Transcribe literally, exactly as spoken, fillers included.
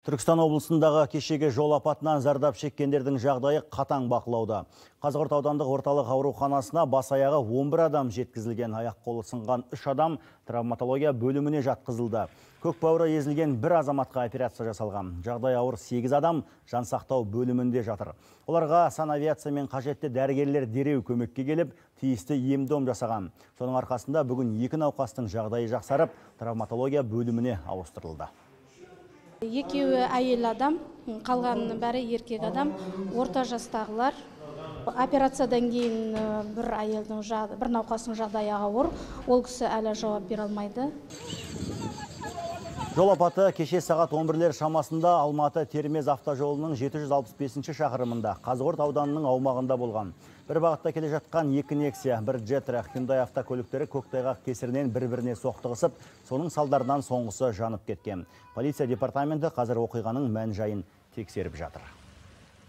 Түркістан облысындағы кешегі жол апатынан зардап шеккендердің жағдайы қатаң бақылауда. Қазығұрт аудандық орталық ауруханасына бас аяғы он бір адам жеткізілген. Аяқ қолы сынған үш адам травматология бөліміне жатқызылды. Көк бауыры езілген бір азаматқа операция жасалған. Жағдай ауыр сегіз адам жансақтау бөлімінде жатыр. Оларға санавиация мен қажетті дәрігерлер дереу көмекке келіп, тиісті ем-дом жасаған. Соның арқасында бүгін екі науқастың жағдайы жақсарып, травматология бөліміне ауыстырылды. Екеуі әйел адам, қалғанының бәрі еркек адам, орта жастағылар. Операциядан кейін бір әйелдің бір науқастың жағдайы ауыр, ол кісі әлі жауап бере алмайды. Жол апаты кеше сағат он бірлер шамасында Алматы-Термез автожолының жеті жүз алпыс бесінші шақырымында Қазығұрт ауданының аумағында болған. Бір бағытта келе жатқан екі Nexia, бір Jettra, Hyundai автокөліктері көктайғақ кесірінен бір-біріне соқтығысып, соның салдарынан соңғысы жанып кеткен. Полиция департаменті қазір оқиғаның мән-жайын тексеріп жатыр.